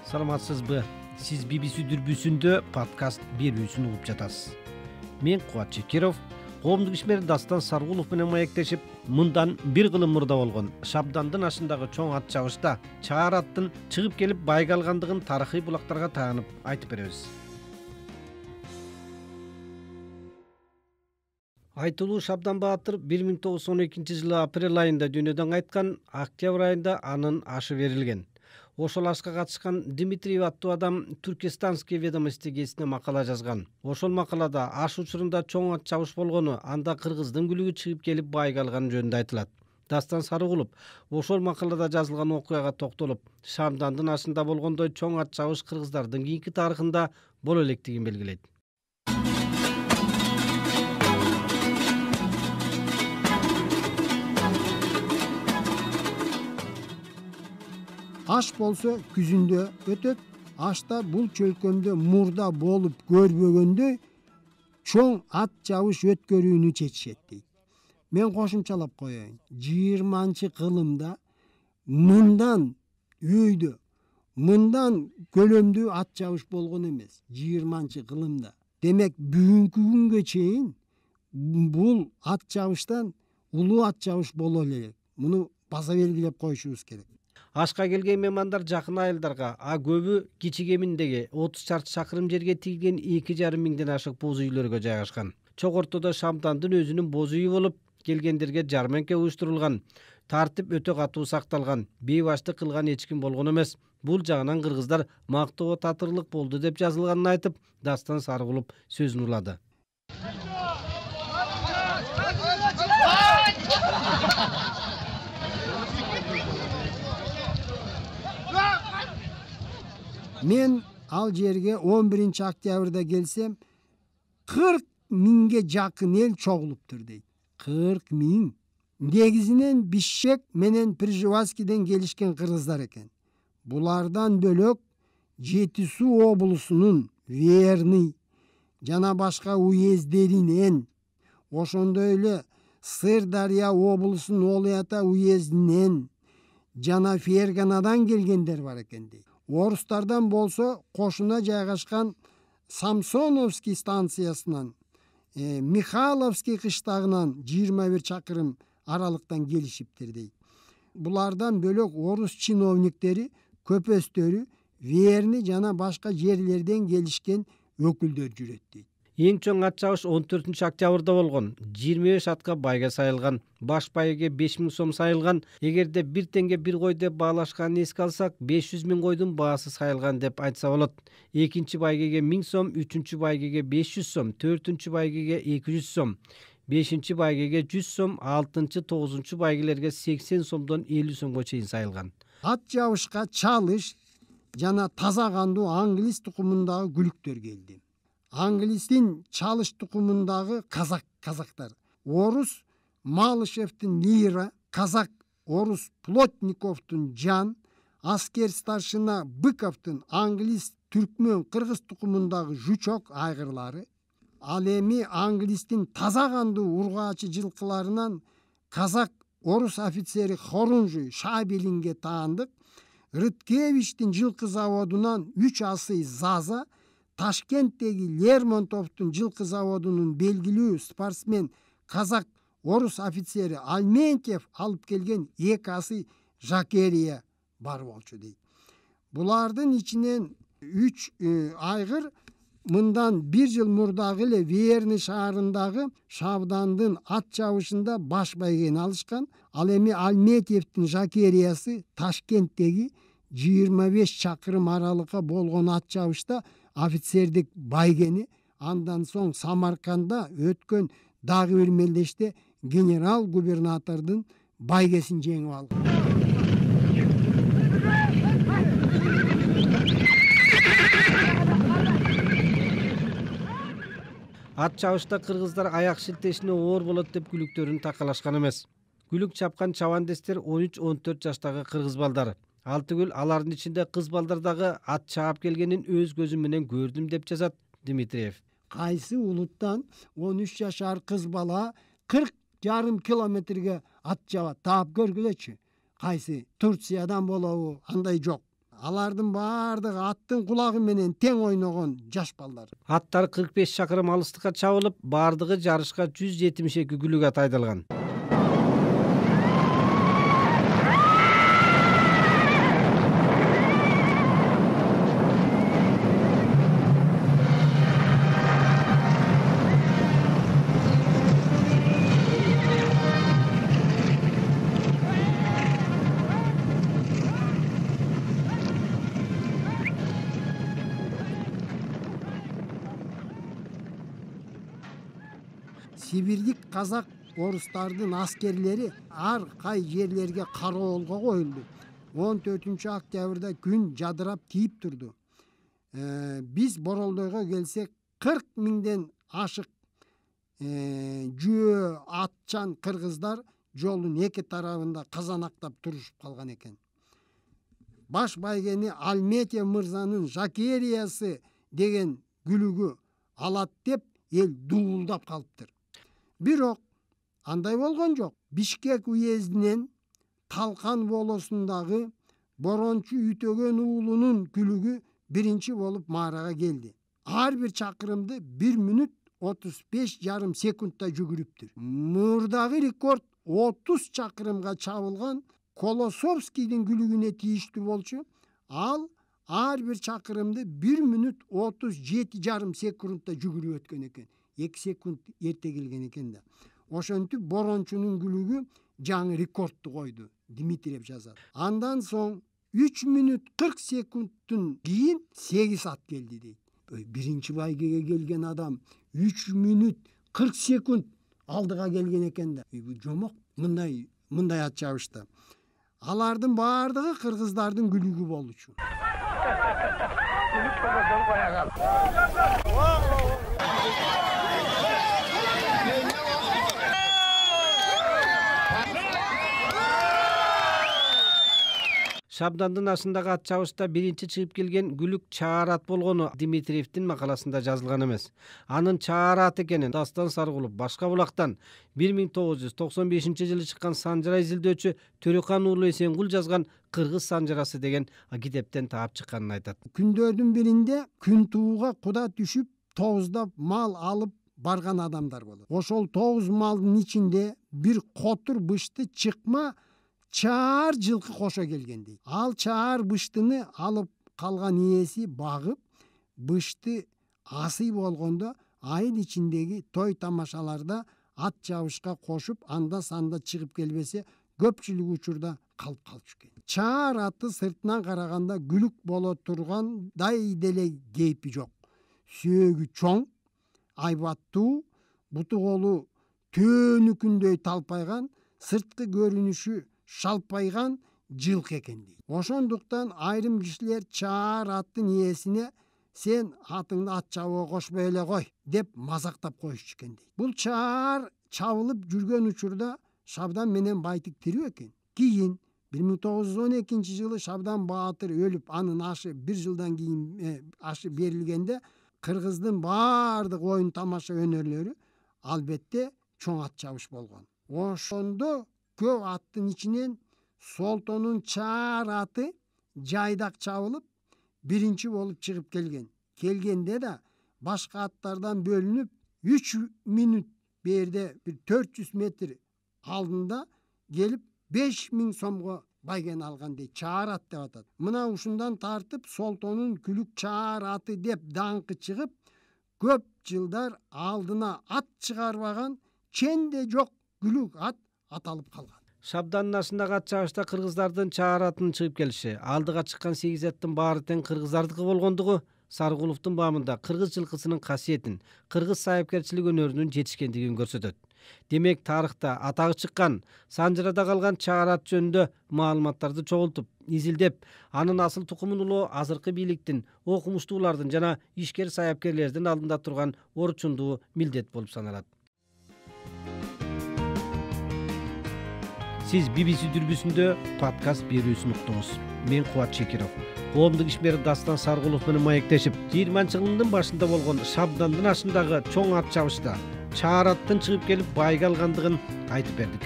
Саламатсызбы? Сиз BBC дүрбүсүндө подкаст берүүсүн угуп жатасыз. Мен Кубат Чекиров, коомдук ишмер Дастан Саргулов менен маектешип, мындан бир кылым мурда болгон Шабдандын ашындагы чоң ат чабышта чаар аттын чыгып келип байга алгандыгын тарыхый булактарга таанып айтып беребиз. Айтылуу Шабдан Баатыр 1912-жылы апрель айында дүйнөдөн кайткан, октябрь айында анын ашы берилген. Ошол ашка катышкан Дмитриев аттуу адам Туркестанские ведомости гезитине макала жазган. Ошол макалада аш учурунда чоң ат чабыш болгону, анда кыргыздын күлүгү чыгып келип байга алганы жөнүндө айтылат. Дастан Сарыгулов ошол макалада жазылган окуяга токтолуп, Шабдандын ашында болгондой чоң ат чабыш кыргыздардын кийинки тарыхында боло электигин белгилейт. Аш болсо күзүндө өтөт, ашта бул чөлкөмдө мурда болуп көрбөгөндөй чоң ат чабыш өткөрүүнү чечишет дейт. Мен кошумчалап коеюн. 20-кылымда мындан өйдө, мындан көлөмдүү ат чабыш болгон эмес. 20-кылымда. Демек бүгүнкү күнгө чейин бул ат чабыштан улуу ат чабыш боло элек. Муну баса белгилеп коюшубуз керек. Ашка келген меймандар жакын айылдарга, көбү кичи кеминдеги 30 чарчы чакырым жерге тигилген 2,5 миңден ашык боз үйлөргө жайгашкан. Чок ортодо Шабдандын өзүнүн боз үйү болуп, келгендерге жарманка уюштурулган. Тартип өтө катуу сакталган, бейбаштык кылган эч ким болгон эмес. Бул жагынан кыргыздар мактоого татырлык болду деп жазылганын айтып, Дастан Сарыгулов сөзүн улады. Мен ал жерге 11-октябрда келсем, 40 миңге жакын эл чогулуптур дейт. 40 миң. Негизинен Бишкек менен Пржевальскийден келишкен кыргыздар экен. Булардан бөлөк Жети Суу облусунун Верный жана башка уездеринен, ошондой эле Сырдарья облусунун Олый Ата уездинен жана Ферганадан келгендер бар экен дейт. Орустардан болсо кошуна жайгашкан Самсоновский станциясынан, Михайловский кыштагынан 21 чакырым аралыктан келишиптир дейт. Булардан бөлөк орус чиновниктери, көпөстөрү Верный жана башка жерлерден келишкен өкүлдөр жүрөт дейт. Эң чоң ат чабыш 14-октябрда болгон. 25 атка байга сайылган. Баш байгеге 5.000 сом сайылган. Эгерде 1 теңге 1 кой деп баалашканын эске алсак, 500.000 койдун баасы сайылган деп айтса болот. Экинчи байгеге 1000 сом, үчүнчү байгеге 500 сом, төртүнчү байгеге 200 сом, бешинчи байгеге 100 сом, алтынчы, 9-чу байгелерге 80 сомдон 50 сомго чейин сайылган. Ат чабышка чалыш жана таза кандуу англис тукумундагы күлүктөр келди. Англистин чалыш тукумундагы казактар, орус Малышевдин Лира, казак орус Плотниковдун Жан, аскер старшина Быковдун англис түркмөн кыргыз тукумундагы Жучок айгырлары, ал эми англистин таза кандуу ургаачы жылкыларынан казак орус офицери Хорунжий Шабелинге таандык, Рыткевичтин жылкы заводунан 3 асый Заза, Ташкенттеги Лермонтовдун жылкы заводунун белгилүү спортсмен казак орус офицери Альментьев алып келген 2 асый Жакерия бар болчу дейт. Булардын ичинен 3 айгыр мындан 1 жыл мурдагы эле Верный шаарындагы Шабдандын ат чабышында баш байгени алышкан. Ал эми Альметьевдин Жакериясы Ташкенттеги 25 чакырым аралыкка болгон ат чабышта офицердик байгени, андан соң Самарканда өткөн дагы бир мелдеште генерал губернатордун байгесин жеңип алган. Ат чабышта кыргыздар аяк шилтешине оор болот деп күлүктөрүн такалашкан эмес. Күлүк чапкан чабандестер 13-14 жаштагы кыргыз балдары. Ал түгүл, алардын ичинде кыз балдар дагы ат чаап келгенин өз көзүм менен көрдүм деп жазат Дмитриев. Кайсы улуттан 13 жашар кыз бала 40,5 километрге ат чабат, таап көргүлөчү. Кайсы Турциядан болобу, андай жок. Алардын баардыгы аттын кулагы менен тең ойногон жаш балдар. Аттар 45 чакырым алыстыкка чабылып, баардыгы жарышка 172 күлүгө ат айдалган. Сибирдик казак орустардын аскерлери ар кай жерлерге кароолго коюлду. 14-октябрда күн жадырап тийип турду. Биз Боролдойго келсек 40 миңден ашык жөө атчан кыргыздар жолдун эки тарабында казанактап турушуп калган экен. Баш байгени Алметьев мырзанын Жакериясы деген күлүгү алат деп эл дуулдап калыптыр. Бирок андай болгон жок. Бишкек уездинен Талкан болосундагы Борончу Үтөгөн уулунун күлүгү биринчи болуп маарага келди. Ар бир чакырымды 1 мүнөт 35,5 секундта жүгүрүптүр. Мурдагы рекорд 30 чакырымга чабылган Колосовскийдин күлүгүнө тийиштүү болчу. Ал ар бир чакырымды 1 мүнөт 37,5 секундта жүгүрүп өткөн экен. 2 секунд эрте келген экен да. Ошентип Борончунун күлүгү жаңы рекордду койду, Дмитриев жазат. Андан соң 3 мүнөт 40 секундтун кийин 8 ат келди дейт. Биринчи байгеге келген адам 3 мүнөт 40 секунд алдыга келген экен да. Жомок мындай ат чабышта. Алардын баардыгы кыргыздардын күлүгү болчу. Шабдандын ашындагы ат чабышта биринчи чыгып келген күлүк чаар ат болгону Дмитриевдин макаласында жазылган эмес. Анын чаар ат экенин Дастан Саргулов Башка булактан 1995-жылы чыккан санжара изилдөөчү Төрөкан уулу Эсенгул жазган Кыргыз санжарасы деген китептен таап чыкканын айтат. Күндөрдүн биринде күн тууга куда түшүп, тоуздап мал алып барган адамдар болот. Ошол тоуз малдын ичинде бир котур бышты чыкма чаар жылкы кошо келген дейт. Ал чаар быштыны алып калган ээси багып, бышты асый болгондо айыл ичиндеги той тамашаларда ат чабышка кошуп, анда санда чыгып келбесе, көпчүлүк учурда калып калчу экен. Чаар аты сыртынан караганда күлүк боло тургандай деле кейпи жок. Сөөгү чоң, айбаттуу, буту колу төөнүкүндөй талпайган, сырткы көрүнүшү шалпайган жылкы экен дейт. Ошондуктан айрым кишилер чаар аттын ээсине "Сен атыңды ат чабууга кошпой эле кой" деп мазактап коюшчу экен дейт. Бул чаар чабылып жүргөн учурда Шабдан менен Байтик тирүү экен. Кийин 1912-жылы Шабдан Баатыр өлүп, анын ашы 1 жылдан кийин ашы берилгенде кыргыздын баардык оюн тамаша өнөрлөрү албетте чоң ат чабыш болгон. Ошондо көп аттын ичинен Солтонун чаар аты жайдак чабылып, биринчи болуп чыгып келген. Келгенде да башка аттардан бөлүнүп 3 мүнөт берде бир 400 метр алдында келип 5000 сомго байген алган дейт. Чаар ат деп атат. Мына ушундан тартып Солтонун күлүк чаар аты деп даңкы чыгып, көп жылдар алдына ат чыгарбаган, ченде жок күлүк ат аталып калган. Шабдандын ашындагы ат чабышта кыргыздардын чаар атынын чыгып келиши, алдыга чыккан 8 аттын баары тең кыргыздардыкы болгондугу Саргуловдун баамында кыргыз жылкысынын касиетин, кыргыз сайыпкерчилик өнөрүнүн жетишкендигин көрсөтөт. Демек, тарыхта атагы чыккан, санжырада калган чаар ат жөнүндө маалыматтарды чогултуп, изилдеп, анын асыл тукумун улоо азыркы бийликтин, окумуштуулардын жана ишкер сайыпкерлердин алдында турган орчундуу милдет болуп саналат. Сиз BBC дүрбүсүндө подкаст берүүсүн уктуңуз. Мен Кубат Чекиров. Коомдук ишмер Дастан Саргулов менен маектешип, 20-жылдын башында болгон Шабдандын ашындагы чоң ат чабышта чаар аттын чыгып келип байга алгандыгын айтып бердик.